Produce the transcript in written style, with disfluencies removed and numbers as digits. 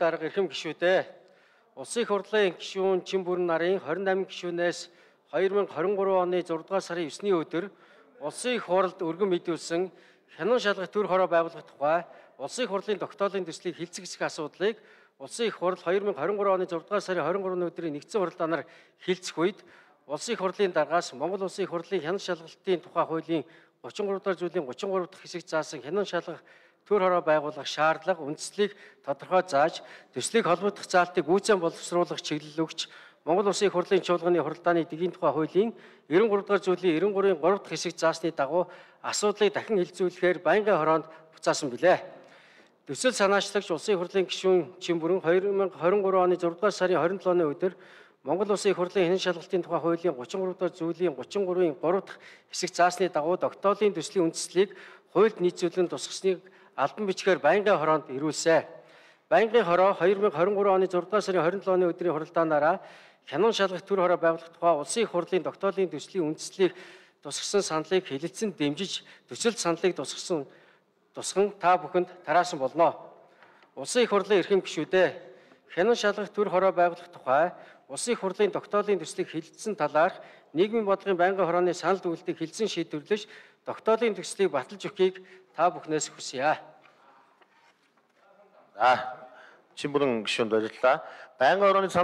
дарга эрхэм гишүүдээ Улсын их хурлын гишүүн Чин-Бүрэн нарын 28 гишүүнээс 2023 оны 6 дугаар сарын 9-ний өдөр Улсын их хурлд өргөн мэдүүлсэн хянан шалгах төр хороо байгуулах тухай Улсын их хурлын тогтоолын төслийг хилцэх асуудлыг Улсын их хурл 2023 оны 6 дугаар сарын 23-ны өдрийн нэгдсэн хурлаанаар хилцэх үед Улсын их хурлын даргаас Монгол Улсын их хурлын хянан шалгалтын тухай хуулийн 33 дахь зүйлийн 33 дахь хэсэгт заасан хянан шалгах төр хороо байгуулах шаардлага үндслийг тодорхой зааж төслийг холбогдох заалтыг гүйцэн боловсруулах чиглэл өгч Монгол Улсын их хурлын чуулганы хуралдааны дэгийн тухай хуулийн 93 дахь зүйлийн 93-ийн 3 дахь хэсэгт заасны дагуу асуудлыг дахин хилцүүлэхээр байнгын хороонд буцаасан билээ. Төсөл санаачлагч Улсын их хурлын гишүүн Чин-Бүрэн 2023 оны 6 дугаар сарын 27-ны өдөр Монгол Улсын их хурлын хянан шалгалтын тухай хуулийн 33 дахь зүйлийн 33-ийн 3 дахь хэсэгт заасны дагуу тогтоолын төслийн үндслийг хуульд нийцүүлэн тусгасныг албан бичгээр байнгын хороонд ирүүлсэн. Байнгын хороо 2023 оны 6 дугаар сарын 27-ны өдрийн хуралдаанаараа хянан шалгах төр хороо байгуулах тухай Улсын их хурлын тогтоолын төслийн үндслийг тусгасан саналыг хэлэлцэн дэмжиж төсөлд саналыг тусган та бүхэнд тараасан болно. Улсын их хурлын эрхэм гишүүдээ хянан шалгах төр хороо байгуулах тухай Улсын их хурлын тогтоолын төслийг хэлэлцсэн талаарх нийгмийн бодлогын байнгын хорооны санал дүгнэлтийг хэлсэн шийдвэрлэж тогтоолын төслийг баталж өгөхийг та бүхнээс хүсье. Чин-Бүрэн гишүүнд баярлалаа. Байнгын хорооны санал